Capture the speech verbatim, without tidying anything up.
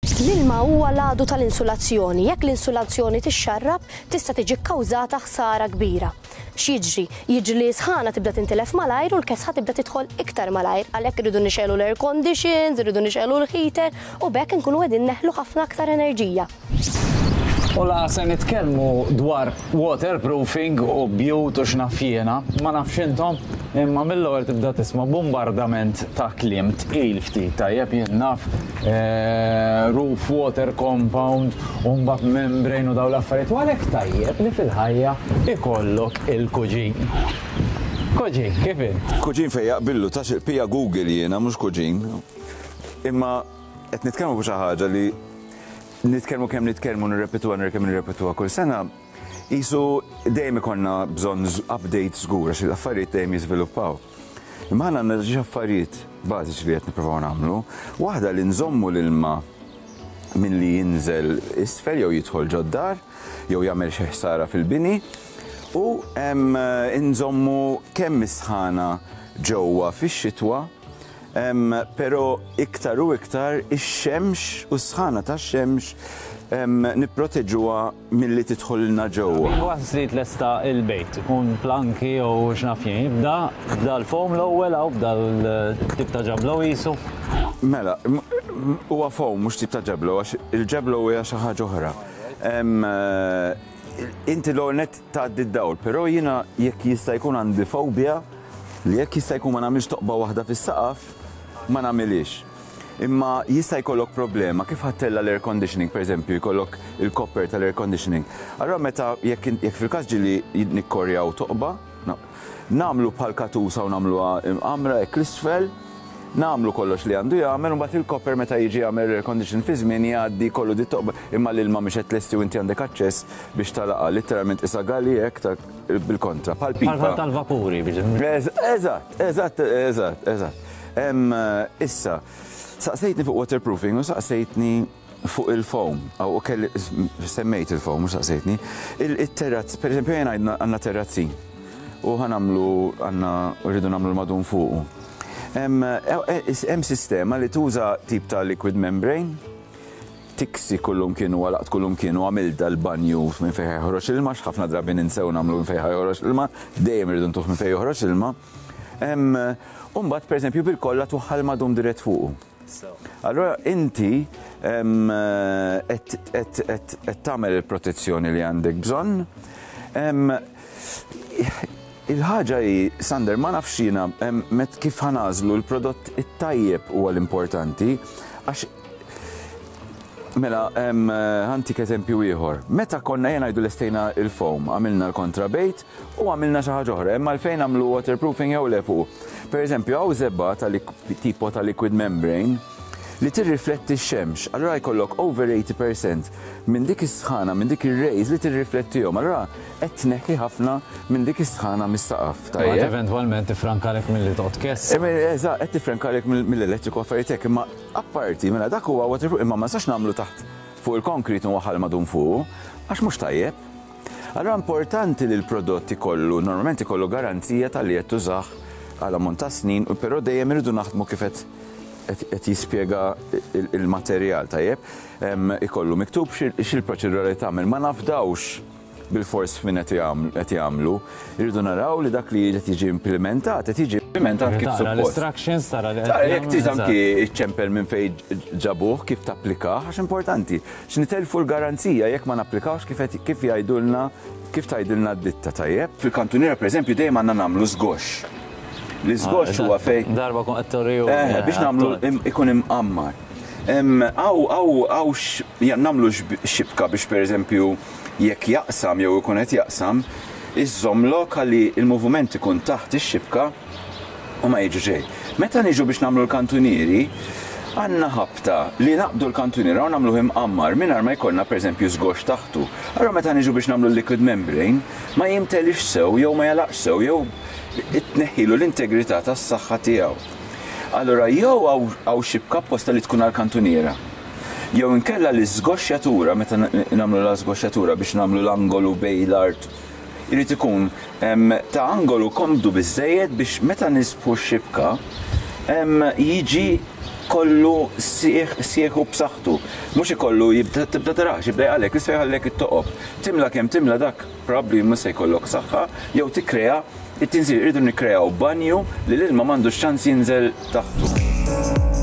L-ilma huwa l-għadu tal-insulazzjoni. Jekk l-insulazzjoni tixxarrab, tista' tiġi kkawżata ħsara kbira. X'jiġri? Jiġri li sħana tibda tintilef malajr u l-kesħa tibda tidħol iktar malajr, għalhekk irridu nixegħlu l-air conditions, irridu nixegħlu l-heater u b'hekk inkunu qegħdin neħlu ħafna aktar enerġija. U la se nitkellmu dwar waterproofing u bjut u x'naf jiena, ma nafx intom, imma mill-ewwel tibda tisma' bombardament ta' kliem tqil ftit, tajjeb, jien naf eh, roof water compound u mbagħad membrane u dawn l-affarijiet, u għalhekk tajjeb li fil-ħajja ikollok il-kuġin. Kuġin, kif int? Kuġin fej jaqbillu, ta' pija Google jiena, mhux kuġin. Imma qed nitkellmu fuq xi ħaġa li nitkellmu kemm nitkellmu, nirrepetuha kemm nirrepetuha kull sena, qisu dejjem ikollna bżonn update żgur għax l-affarijiet dejjem jiżviluppaw. Imma aħna għandna xi affarijiet bażiċi li qed nippruvaw nagħmlu. Waħda li nżommu l-ilma minn li jinżel isfel jew jidħol ġod-dar jew jagħmel xi ħsara fil-bini u nżommu kemm is-sħana ġewwa fix-xitwa, però iktar u iktar ix-xemx u s-sħana tax-xemx nipproteġuha milli tidħolna ġewwa. Once li tlesta il-bejt, ikun planki u x'naf jien, jibda bda l-foam l-ewwel hawn bda l-tip ta' ġablo qisu. Mela, huwa foam, mhux tip ta' ġablo, għax il-ġablo hija xi ħaġa oħra. Inti l net tgħaddi d-dawl, però jiena jekk jista' jkun għandi fobja li jekk jista' jkun ma nagħmilx toqba waħda fis-saqaf, ma nagħmilix. Imma jista' jkollok problema kif ħa ttella' l-air conditioning, per eżempju, jkollok il-copper tal-air conditioning. Allora meta jekk jekk fil-każ ġieli nikkorjaw toqba, nagħmlu bħal katusa u nagħmluha għamra hekk l-isfel, nagħmlu kollox li għandu jagħmel, u mbagħad il-copper meta jiġi jagħmel air condition fi żmien jgħaddi kollu di toqba, imma l-ilma mhix qed tlesti u inti għandek aċċess biex talaqa, letteralment isa gali hekk ta' bil-kontra, bħal pipa. Bħal tal-vapuri biex. Eżatt, eżatt, eżatt, eżatt. Issa, saqsejtni fuq waterproofing u saqsejtni fuq il-foam, u kelli semmejt il-foam, mhux saqsejtni. Il-terrazz, per eżempju, jena għandna terrazzin u ħa nagħmlu, għandna rridu nagħmlu l-madum fuqu. Hemm sistema li tuża tip ta' liquid membrane, tiksi kullum kienu għalaqt kullum kienu għamil dal-banju minn fejn joħroġ ilma, ħafna drabi ninsew nagħmlu minn fejn joħroġ ilma, dejjem irridu ntuh minn fejn joħroġ ilma. Umbagħad, per eżempju, bil-kolla tuħħal madum dirett fuqu. Allora inti qed tagħmel il-protezzjoni li għandek bżonn. Il-ħaġa hi, Sander, ma nafx jiena met kif ħa nagħżlu l-prodott it-tajjeb huwa l-importanti, għax mela ħa ntik eżempju ieħor. Meta konna jena ngħidu lestejna il-foam, għamilna l-kontrabejt u għamilna xi ħaġa oħra, imma għalfejn għamlu waterproofing jew le fuq. Per eżempju, hawn żebgħa ta' tipo ta' liquid membrane li tirrifletti x-xemx. Allora jkollok over eighty percent minn dik is-sħana, minn dik ir-rays li tirriflettihom. Allora qed tneħħi ħafna minn dik is-sħana mis-saqaf. Tajjeb. Eventwalment tifrankalek milli toqgħod kess. Eżatt, qed tifrankalek mill-elettriku, affarijiet hekk, imma apparti mela dak huwa waterproof, imma ma nistax nagħmlu taħt fuq il-konkrit u waħal madum fuq, għax mhux tajjeb. Allora importanti li l-prodott ikollu, normalment ikollu garanzija tal-li qed tużah għal ammont ta' snin, però dejjem irridu naħdmu kif qed qed jispjega il-materjal, tajjeb. Ikollu miktub xil-proċedura li tagħmel, ma nafdawx bil-fors min qed jagħmlu. Irridu naraw li dak li qed jiġi implementat, qed jiġi implementat kif Tara suppost. l-instructions, tara li Tara, jekk trid anki iċċempel minn fejn ġabuh kif tapplikah, għax importanti. X'nitelfu l-garanzija jekk ma napplikawx kif qed- kif jgħidulna, kif tgħidilna d-ditta, tajjeb. Fil-kantuniera, pereżempju, dejjem għandna nagħmlu żgox. L-iżgox huwa fejn Darba kon qed toriju. Eh, biex nagħmlu im- ikun imqammar. Aw, aw, aw, nagħmlu xibka biex, per eżempju, jekk jaqsam jew ikun qed jaqsam, iżżomm għalli il-moviment ikun taħt ix-xibka u ma jiġu ġej. Meta niġu biex nagħmlu l-kantunieri, għandna ħabta li naqbdu l-kantuniera u nagħmluh imqammar mingħajr ma jkollna, per eżempju, żgox taħtu. Allora meta niġu biex nagħmlu l-liquid membrane, ma jimtelix sew jew ma jalaqx sew jew itneħħilu l-integrità tas-saħħa tiegħu. Allora jew hawn xibka apposta li tkun għal-kantuniera. Jew inkella li żgoxxjatura, meta nagħmlu la żgoxxjatura biex nagħmlu l-angolu bejn l-art, irid ikun em, ta' angolu komdu biżejjed biex meta nisbħu x-xibka em, jiġi Kollu sieħ sieħ u b'saħħtu. Mhux ikollu jibda tibda tarax, jibda jgħalek, jista' jħallek it-toqob. Timla kemm timla, dak probabbli mhux se jkollok saħħa jew tikkrea it-tinżil. Irridu nikkreaw banju li l-ilma m'għandux ċans jinżel taħtu.